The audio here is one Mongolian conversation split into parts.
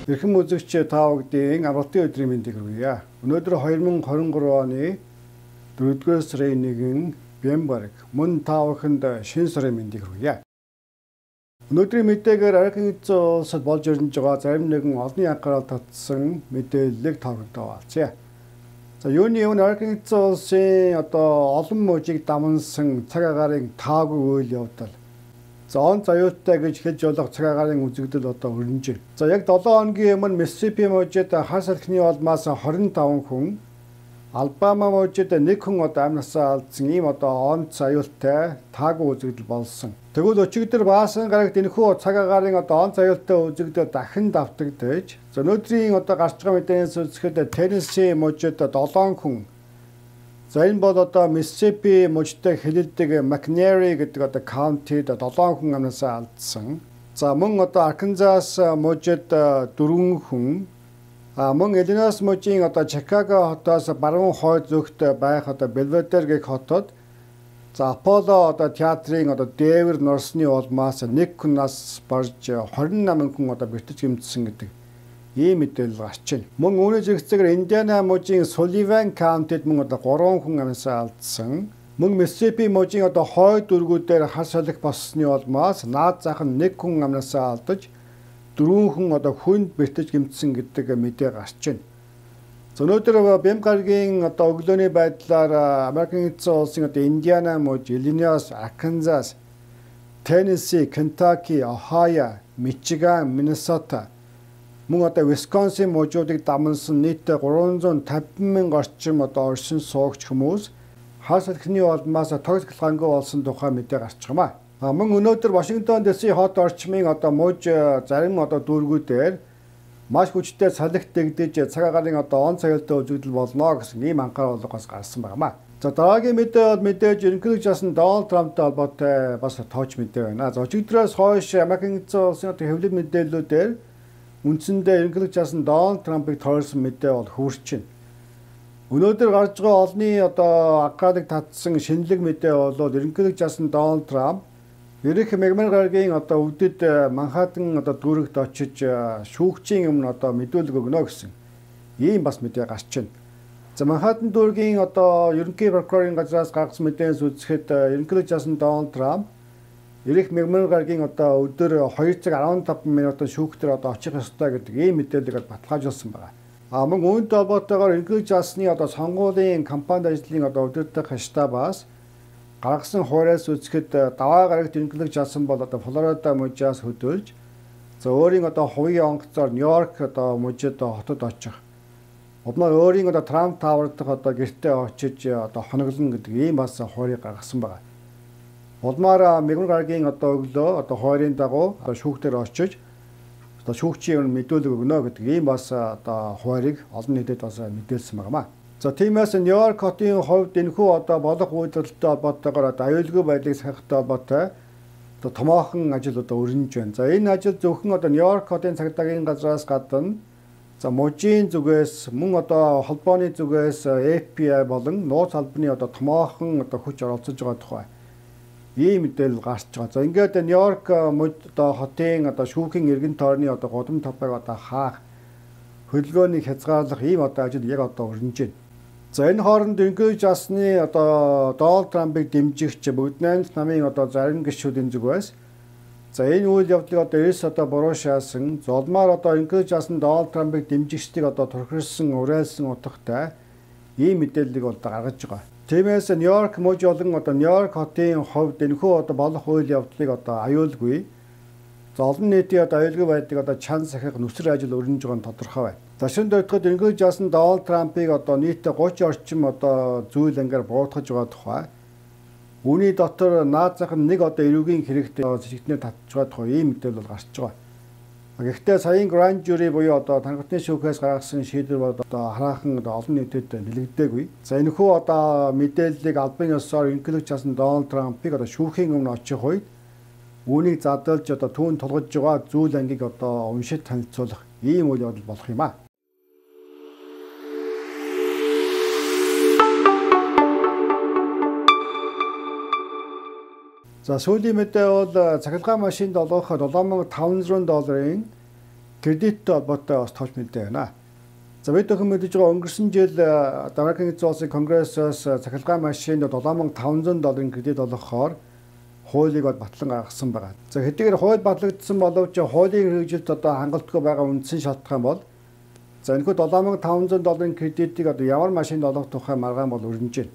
Эрхэм үзэгч та бүдийн амралтын өдрийн мэндийг хүргье. Өнөөдөр 2023 оны 4-р сарын 1-ний Бямбарг мөн та бүхэнд шинэ сарын мэндийг хүргье. Өнөөдрийн мэдээгээр Америкийн эзэн улсад болж ирж байгаа зарим нэгэн олонний анхаарал татсан мэдээллийг та бүхэндээ хуваалцъя. За юуны өмнө Америкийн эзэн улсын олон мужийг дамнасан цаг агаарын таагүй үйл явдал. За он заюултай гэж хэлж болох цаг агаарын үзэгдэл өрнөж байна. За яг 7 хоногийн өмнө Миссисипи мужид хар салхины улмаас 25 хүн, Алабама мужид 1 хүн амнасаа алдсан ийм он заюултай таагүй үзэгдэл болсон. Тэгвэл өчигдөр баасан гарагт энэхүү цаг агаарын он заюултай үзэгдэл дахин давтагдаж, өнөөдрийн гарч байгаа мэдээнээс үзэхэд Теннесси мужид 7 хүн. За энэ бол Миссисипи мужтай хэлэлдэг McNairy гэдэг каунтид 7 хүн амнасаа алдсан. За мөн Арканзас мужид 4 хүн. Мөн Иллинойс мужийн Чикаго хотоос баруун хойд зүгт байх Белведер гэх хотод Аполло театрын дээвэр норсны улмаас 1 хүн нас барж 28 хүн бэртэж гэмтсэн гэдэг ийм мэдээлэл гарч байна. Мөн үүний зэрэгцээгээр Индиана мужийн Сулливан каунтид мөн 3 хүн амнасаа алдсан. Мөн Миссисипи мужийн хойд дүүргүүдээр хар салхи боссны улмаас наад зах нь 1 хүн амнасаа алдаж 4 хүн хүнд бэртэж гэмтсэн гэдэг мэдээ гарч байна. Өнөөдөр Бямбаргийн өглөөний байдлаар Америкийн эзэн улсын Индиана муж, Иллинойс, Арканзас, Теннесси, Кентаки, Ohio, Мичиган, Миннесота мөн Висконсин мужуудыг дамнасан нийт 350,000 орчим оршин суугч хүмүүс хар салхины улмаас тогтмол галгаангүй болсон тухай мэдээ гарч байгаа юм. Мөн өнөөдөр Вашингтон дэсийн хот орчмын муж зарим дүүргүүдээр маш хүчтэй салхи дэгдэж цаг агаарын он заюултай үзэгдэл болно гэсэн ийм анхаарал бас гарсан байна. За дараагийн мэдээ бол мэдээж ерөнхийлөгч асан Дональд Трамптай холбоотой бас тооч мэдээ байна. За өчигдрөөс хойш Америкийн эзэн улсын хэвлэл мэдээллүүдээр үндсэндээ ерөнхийлөгч асан Дональд Трампыг тойрсон мэдээ бол хүрч байна. Өнөөдөр гарч байгаа олонний анхаарлыг татсан шинэлэг мэдээ бол ерөнхийлөгч асан Дональд Трамп Ирэх мягмар гарагийн өвдөд Манхаттен дүүрэгт очиж шүүгчийн өмнө мэдүүлэг өгнө гэсэн ийм бас мэдээ гарч байна. За Манхаттен дүүргийн ерөнхий прокурорын газраас гаргасан мэдээнээс үзэхэд ерөнхийлөгч асан Дональд Трамп Ирэх мягмар гарагийн өдөр 2 цаг 15 минутын шүүгтэр очих ёстой гэдэг ийм мэдээллийг баталгаажуулсан байна. Мөн үүнтэй холбоотойгоор ерөнхийлөгч асны сонгуулийн кампанид ажлын өдөртөх штабаас гаргасан хуураас үзэхэд даваа гарагт ерөнхийлөгч асан бол Флорида мужаас хөдөлж өөрийн хувийн онгоцоор Нью-Йорк мужид хотод очих. Удмаа өөрийн Трамп Тауэр дахь гэртээ очиж хоноглоно гэдэг ийм бас хуурийг гаргасан байна. Улмаар мягмар гарагийн өглөө хойрын дагуу шүүгтэр очиж шүүгчийн өмнө мэдүүлэг өгнө гэдэг ийм бас хуурийг олон нийтэд бас мэдээлсэн байна. За тиймээс Нью-Йорк хотын хувьд энэхүү болох үйлдвэрлэлтэй холбоотойгоор аюулгүй байдлыг сахихтай холбоотой томоохон ажил өрнөж байна. За энэ ажил зөвхөн Нью-Йорк хотын цагдаагийн газраас гадна мужийн зүгээс мөн холбооны зүгээс FBI болон нууц албаны томоохон хүч оролцож байгаа тухай ийм мэдээлэл гарч байгаа. За ингээд Нью-Йорк мужид хотын шүүхийн эргэн тойрны гудам тавтайг хаах хөдөлгөөнийг хязгаарлах ийм ажил яг өрнөж байна. За энэ хооронд ерөнхийлөгч асны Дональд Трампыг дэмжигч бүгд найрамд намын зарим гишүүдийн зүгээс за энэ үйл явдлыг эрс буруу шаасан золмаар ерөнхийлөгч асан Дональд Трампыг дэмжигчдийг турхирсан уриалсан утгатай ийм мэдээллийг гаргаж байгаа. Тиймээс Нью-Йорк муж болон Нью-Йорк хотын хувьд энэхүү болох үйл явдлыг аюулгүй олон нийтийн аюулгүй байдлыг чан сахих нүсэр ажил өрнөж байгаа нь тодорхой байна. За шинэ дөрөвдөгт ерөнхийлөгч асан Дональд Трампыг нийт 30 орчим зүйл ангиар буруутгаж байгаа тухай үүний дотор наад зах нь нэг эрүүгийн хэрэгтэй зэгтнээ татж байгаа тухай ийм мэдээлэл гарч байгаа. Гэхдээ саяын Grand Jury буюу тангартны шүүхээс гаргасан шийдвэр бол хараахан олон нийтэд нэлэгдээгүй. За энэхүү мэдээллийг албан ёсоор ерөнхийлөгч асан Дональд Трампыг шүүхийн өмнө очих үед үүнийг задлж түүнд тулгаж байгаа зүйл ангийг уншиж танилцуулах ийм үйл явдал болох юм аа. За сүүлийн мэдээ бол цахилгаан машинд олгох $7,500 кредиттэй холбоотой бас товч мэдээ байна. За бид өхөн мэдэж байгаа өнгөрсөн жил Америкийн эзэн улсын конгрессоос цахилгаан машинд $7,500 кредит олгохоор хуулийг батлан гаргасан байгаа. За хэдийгээр хууль батлагдсан боловч хуулийн хэрэгжилт хангалтгүй байгаа үндсэн шалтгаан бол за энэхүү $7,500 кредитийг ямар машинд олгох тухай маргаан бол өрнөж байна.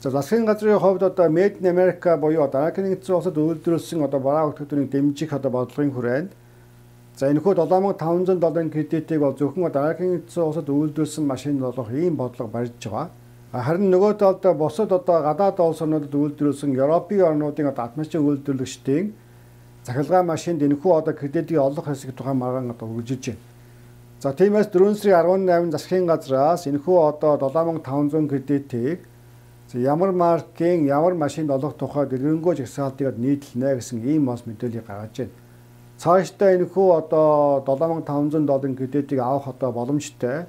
За засгийн газрын хувьд Made in America буюу Америкийн эзэн улсад үйлдвэрлэсэн бараа бүтээгдэхүүнийг дэмжих бодлогын хүрээнд за энэхүү $7,500 кредитийг бол зөвхөн Америкийн эзэн улсад үйлдвэрлэсэн машинд олгох ийм бодлого барьж байгаа. Харин нөгөө талд бусад гадаад улс орнуудад үйлдвэрлэсэн Европын орнуудын атмосферын үйлдвэрлэгчдийн цахилгаан машинд энэхүү кредитийг олох хэсэг тухай маргаан үргэлжилж байна. За тиймээс 4 сарын 18 засгийн газраас энэхүү $7,500 кредитийг ямар маркийн ямар машинд олох тухай дэлгэрэнгүй жагсаалтыг нийтлэнэ гэсэн ийм бас мэдээлэл гаргаж байна. Цаашдаа энэхүү $7,500 кредитийг авах боломжтой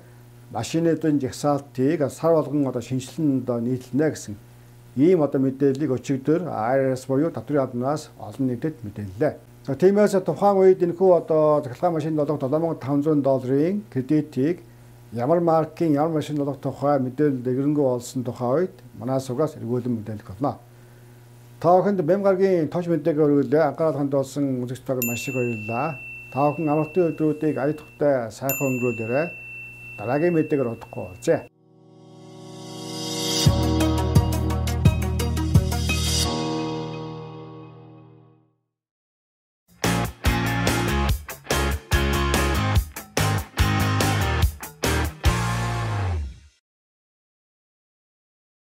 машинуудын жагсаалтыг сар болгон шинжилэн нийтлэнэ гэсэн ийм мэдээллийг өчигдөр IRS буюу татврын албанаас олон нийтэд мэдээллээ. За тиймээс тухайн үед энэхүү цахилгаан машинд олгох $7,500 кредитийг ямар маркийн ямар машинд олгох тухай мэдээлэл дэлгэрэнгүй болсон тухай үед манай сугаас эргүүлэн мэдээлэх болно. Та бүхэнд Бям гарагийн товч мэдээлэл өргөлөө анхаарал хандуулсан үзэгчдээ маш их баярлалаа. Та бүхэн амралтын өдрүүдийг ая тухтай сайхан өнгөрүүлээрэй. Дараагийн мэдээгээр удахгүй уулзъя.